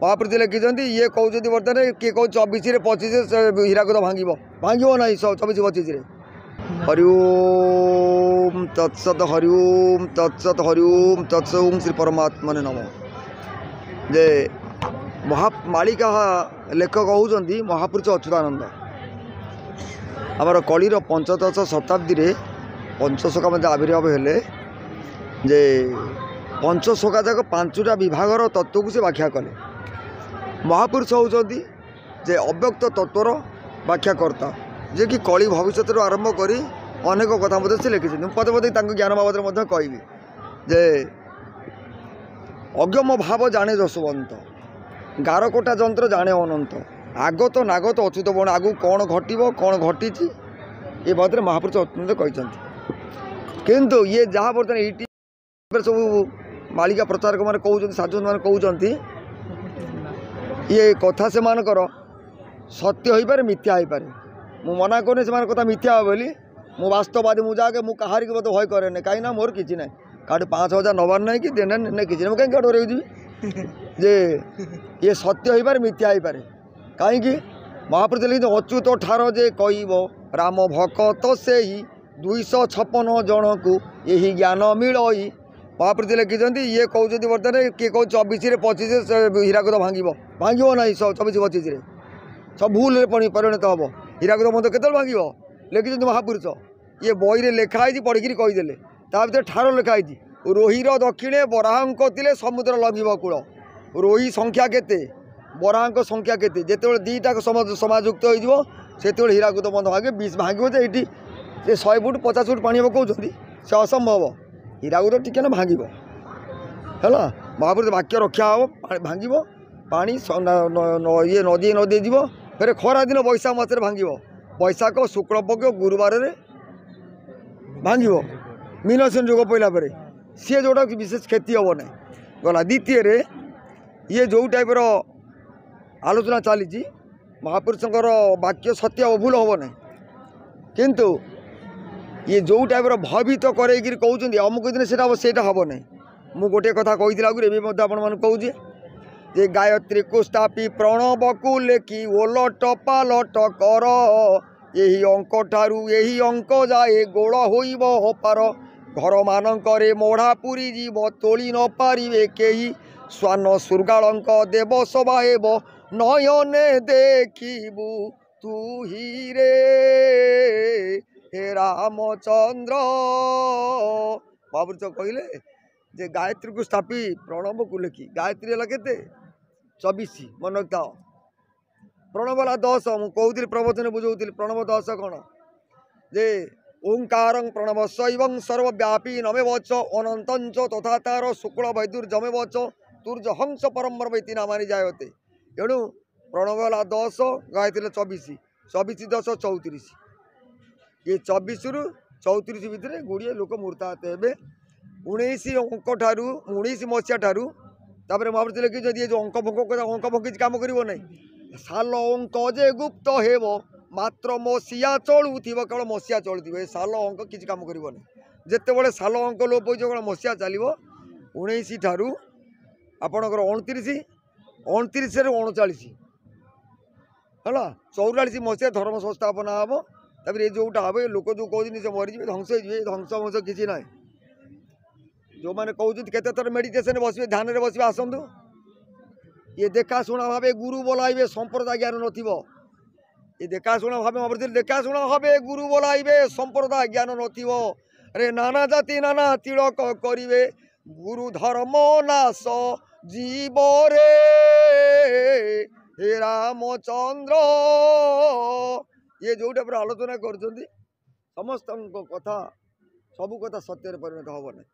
ମହାପୁରୁଷ ଲେଖିଛନ୍ତି। ଇଏ କହୁଛନ୍ତି ବର୍ତ୍ତମାନ କିଏ କହୁଛି 24ରେ 25ରେ ହୀରାକୁଦ ଭାଙ୍ଗିବ, ଭାଙ୍ଗିବ ନାହିଁ 24 25ରେ। ହରି ଓମ୍ ତତ୍ସତ, ହରି ଓମ୍ ତତ୍ସତ, ହରି ଓମ୍ ତତ୍ସ, ଓମ୍ ଶ୍ରୀ ପରମାତ୍ମନେ ନମଃ। ଯେ ମହା ମାଳିକା ଲେଖକ ହେଉଛନ୍ତି ମହାପୁରୁଷ ଅଚ୍ୟୁତାନନ୍ଦ। ଆମର କଳିର ପଞ୍ଚଦଶ ଶତାବ୍ଦୀରେ ପଞ୍ଚସଖା ମଧ୍ୟ ଆବିର୍ଭାବ ହେଲେ, ଯେ ପଞ୍ଚସଖା ଯାକ 5ଟା ବିଭାଗର ତତ୍ତ୍ୱକୁ ସେ ବ୍ୟାଖ୍ୟା କଲେ। ମହାପୁରୁଷ ହେଉଛନ୍ତି ଯେ ଅବ୍ୟକ୍ତ ତତ୍ତ୍ୱର ବ୍ୟାଖ୍ୟାକର୍ତ୍ତା, ଯିଏକି କଳି ଭବିଷ୍ୟତରୁ ଆରମ୍ଭ କରି ଅନେକ କଥା ମଧ୍ୟ ସେ ଲେଖିଛନ୍ତି। ମୁଁ ପଦେ ପଦେ ତାଙ୍କ ଜ୍ଞାନ ବାବଦରେ ମଧ୍ୟ କହିବି। ଯେ ଅଗମ ଭାବ ଜାଣେ ଯଶୋବନ୍ତ, ଗାରକୋଟା ଯନ୍ତ୍ର ଜାଣେ ଅନନ୍ତ, ଆଗତ ନାଗତ ଅଚ୍ୟୁତ ବଣ, ଆଗକୁ କ'ଣ ଘଟିବ କ'ଣ ଘଟିଛି ଏ ବାବଦରେ ମହାପୁରୁଷ ଅତ୍ୟନ୍ତ କହିଛନ୍ତି। କିନ୍ତୁ ଇଏ ଯାହା ବର୍ତ୍ତମାନ ଏଇଠି ସବୁ ମାଳିକା ପ୍ରଚାରକମାନେ କହୁଛନ୍ତି, ସାଧୁମାନେ କହୁଛନ୍ତି, ଇଏ କଥା ସେମାନଙ୍କର ସତ୍ୟ ହୋଇପାରେ, ମିଥ୍ୟା ହୋଇପାରେ। ମୁଁ ମନା କରୁନି ସେମାନଙ୍କ କଥା ମିଥ୍ୟା ହେବ ବୋଲି। ମୁଁ ବାସ୍ତବାଦୀ, ମୁଁ ଯାହାକେ ମୁଁ କାହାରିକି ମୋତେ ଭୟ କରେନି, କାହିଁକିନା ମୋର କିଛି ନାହିଁ, କାହାଠୁ 5000 ନେବାର ନାହିଁ କି ଦେନେ କିଛି ନାହିଁ, ମୁଁ କାହିଁକି ଡରେଇକି ଯିବି? ଯେ ଇଏ ସତ୍ୟ ହୋଇପାରେ, ମିଥ୍ୟା ହୋଇପାରେ। କାହିଁକି ମହାପୁରୁଷ ଲେଖିଛନ୍ତି, ଅଚ୍ୟୁତ ଠାର ଯେ କହିବ ରାମ ଭକତ ସେହି 256 ଜଣକୁ ଏହି ଜ୍ଞାନ ମିଳଇ। ମହାପୁରୁଷ ଲେଖିଛନ୍ତି। ଇଏ କହୁଛନ୍ତି ବର୍ତ୍ତମାନ କିଏ କହୁଛି 24ରେ 25ରେ ହୀରାକୁଦ ଭାଙ୍ଗିବ, ଭାଙ୍ଗିବ ନାହିଁ 24 25ରେ, ସବୁ ଭୁଲରେ ପରିଣତ ହେବ। ହୀରାକୁଦ ବନ୍ଧ କେତେବେଳେ ଭାଙ୍ଗିବ ଲେଖିଛନ୍ତି ମହାପୁରୁଷ। ଇଏ ବହିରେ ଲେଖା ହେଇଛି, ପଢ଼ିକିରି କହିଦେଲେ। ତା ଭିତରେ ଠାର ଲେଖା ହେଇଛି, ରୋହିର ଦକ୍ଷିଣେ ବରାହଙ୍କ ଥିଲେ ସମୁଦ୍ର ଲଙ୍ଘିବ କୂଳ। ରୋହି ସଂଖ୍ୟା କେତେ, ବରାହଙ୍କ ସଂଖ୍ୟା କେତେ? ଯେତେବେଳେ ଦୁଇଟା ସମାଯୁକ୍ତ ହେଇଯିବ ସେତେବେଳେ ହୀରାକୁଦ ବନ୍ଧ ଭାଙ୍ଗିବ। ବିଷ ଭାଙ୍ଗିବ ଯେ ଏଇଠି ସେ 100 ଫୁଟ 50 ଫୁଟ ପାଣି ହେବ କହୁଛନ୍ତି, ସେ ଅସମ୍ଭବ। ହୀରାକୁଦ ଟିକେ ନା ଭାଙ୍ଗିବ ହେଲା, ମହାପୁରୁଷ ବାକ୍ୟ ରକ୍ଷା ହେବ, ଭାଙ୍ଗିବ ପାଣି ଇଏ ନଦୀ ନଦୀ ଯିବ। ଫେରେ ଖରାଦିନ ବୈଶାଖ ମାସରେ ଭାଙ୍ଗିବ, ବୈଶାଖ ଶୁକ୍ଳପକ୍ଷ ଗୁରୁବାରରେ ଭାଙ୍ଗିବ, ମୀନସେନ ଯୋଗ ପଡ଼ିଲା ପରେ ସିଏ ଯେଉଁଟା ବିଶେଷ କ୍ଷତି ହେବ ନାହିଁ। ଗଲା ଦ୍ୱିତୀୟରେ ଇଏ ଯେଉଁ ଟାଇପ୍ର ଆଲୋଚନା ଚାଲିଛି, ମହାପୁରୁଷଙ୍କର ବାକ୍ୟ ସତ୍ୟ ହେବ, ଭୁଲ ହେବ ନାହିଁ। କିନ୍ତୁ ଇଏ ଯେଉଁ ଟାଇପ୍ର ଭୟଭୀତ କରେଇକିରି କହୁଛନ୍ତି ଅମୁକ ଦିନ ସେଇଟା ହେବ, ସେଇଟା ହେବ ନାହିଁ। ମୁଁ ଗୋଟିଏ କଥା କହିଥିଲି ଆଗରୁ, ଏବେ ମଧ୍ୟ ଆପଣମାନଙ୍କୁ କହୁଛି ଯେ ଗାୟତ୍ରୀକୁ ସ୍ଥାପି ପ୍ରଣବକୁ ଲେଖି ଓଲଟ ପାଲଟ କର, ଏହି ଅଙ୍କ ଠାରୁ ଏହି ଅଙ୍କ ଯାଏ ଗୋଳ ହୋଇବ ପାର, ଘରମାନଙ୍କରେ ମଢ଼ା ପୁରୀ ଯିବ ତୋଳି ନ ପାରିବେ କେହି, ଶ୍ୱାନ ଶୃଗାଳଙ୍କ ଦେବ ସଭା ହେବ ନୟନେ ଦେଖିବୁ ତୁ ହିରେ ହେ ରାମଚନ୍ଦ୍ର। ମହାପୁରୁଷ କହିଲେ ଯେ ଗାୟତ୍ରୀକୁ ସ୍ଥାପି ପ୍ରଣବକୁ ଲେଖି, ଗାୟତ୍ରୀ ହେଲା କେତେ? 24, ମନେ ରଖିଥାଅ। ପ୍ରଣବ ହେଲା 10। ମୁଁ କହୁଥିଲି ପ୍ରବଚନ ବୁଝାଉଥିଲି ପ୍ରଣବ 10 କ'ଣ, ଯେ ଓଙ୍କାରଂ ପ୍ରଣବ ଶୈବଂ ସର୍ବବ୍ୟାପୀ ନମେବଚ ଅନନ୍ତଞ୍ଚ ତଥା ତାର ଶୁକ୍ଳ ବୈଦୁର୍ଯମେବଚ ତୁର୍ଜ ହଂସ ପରମ୍ବର ବୈତି ନାମାନି ଜାୟତେ। ଏଣୁ ପ୍ରଣବ ହେଲା 10, ଗାୟତ୍ରୀ ହେଲା 24, 24 10 34। ଇଏ 24ରୁ 34 ଭିତରେ ଗୁଡ଼ିଏ ଲୋକ ମୃତାହତ ହେବେ 19 ଅଙ୍କ ଠାରୁ, 19 ମସିହା ଠାରୁ। ତାପରେ ମହାପୁରୁଷ ଲେଖିଛନ୍ତି, ଏ ଯେଉଁ ଅଙ୍କ ଫଙ୍କ କଥା, ଅଙ୍କ ଫଙ୍କ କିଛି କାମ କରିବ ନାହିଁ। ସାଲ ଅଙ୍କ ଯେ ଗୁପ୍ତ ହେବ ମାତ୍ର ମସିହା ଚଳୁଥିବ, କେବଳ ମସିହା ଚଳୁଥିବ, ଏ ସାଲ ଅଙ୍କ କିଛି କାମ କରିବ ନାହିଁ। ଯେତେବେଳେ ସାଲ ଅଙ୍କ ଲୋପ ହୋଇଯିବ କେବଳ ମସିହା ଚାଲିବ। 19 ଠାରୁ ଆପଣଙ୍କର 29, 29ରୁ 39 ହେଲା, 44 ମସିହା ଧର୍ମ ସଂସ୍ଥାପନା ହେବ। ତାପରେ ଏ ଯେଉଁଟା ହେବ, ଏ ଲୋକ ଯେଉଁ କହୁଛନ୍ତି ସେ ମରିଯିବେ ଧ୍ୱଂସ ହେଇଯିବେ, ଏ ଧ୍ୱଂସ ବଂଶ କିଛି ନାହିଁ। ଯେଉଁମାନେ କହୁଛନ୍ତି କେତେ ଥର ମେଡ଼ିଟେସନ୍ ବସିବେ, ଧ୍ୟାନରେ ବସିବେ, ଆସନ୍ତୁ। ଇଏ ଦେଖାଶୁଣା ଭାବେ ଗୁରୁ ବୋଲାଇବେ, ସମ୍ପ୍ରଦାୟ ଜ୍ଞାନ ନଥିବ। ଏ ଦେଖାଶୁଣା ଭାବେ ଦେଖାଶୁଣା ଭାବେ ଗୁରୁ ବୋଲାଇବେ, ସମ୍ପ୍ରଦାୟ ଜ୍ଞାନ ନଥିବ। ଆରେ ନାନା ଜାତି ନାନା ତିଳକ କରିବେ, ଗୁରୁ ଧର୍ମ ନାଶ ଜୀବରେ ହେ ରାମଚନ୍ଦ୍ର। ଇଏ ଯେଉଁଟା ପୁରା ଆଲୋଚନା କରୁଛନ୍ତି ସମସ୍ତଙ୍କ କଥା, ସବୁ କଥା ସତ୍ୟରେ ପରିଣତ ହେବ ନାହିଁ।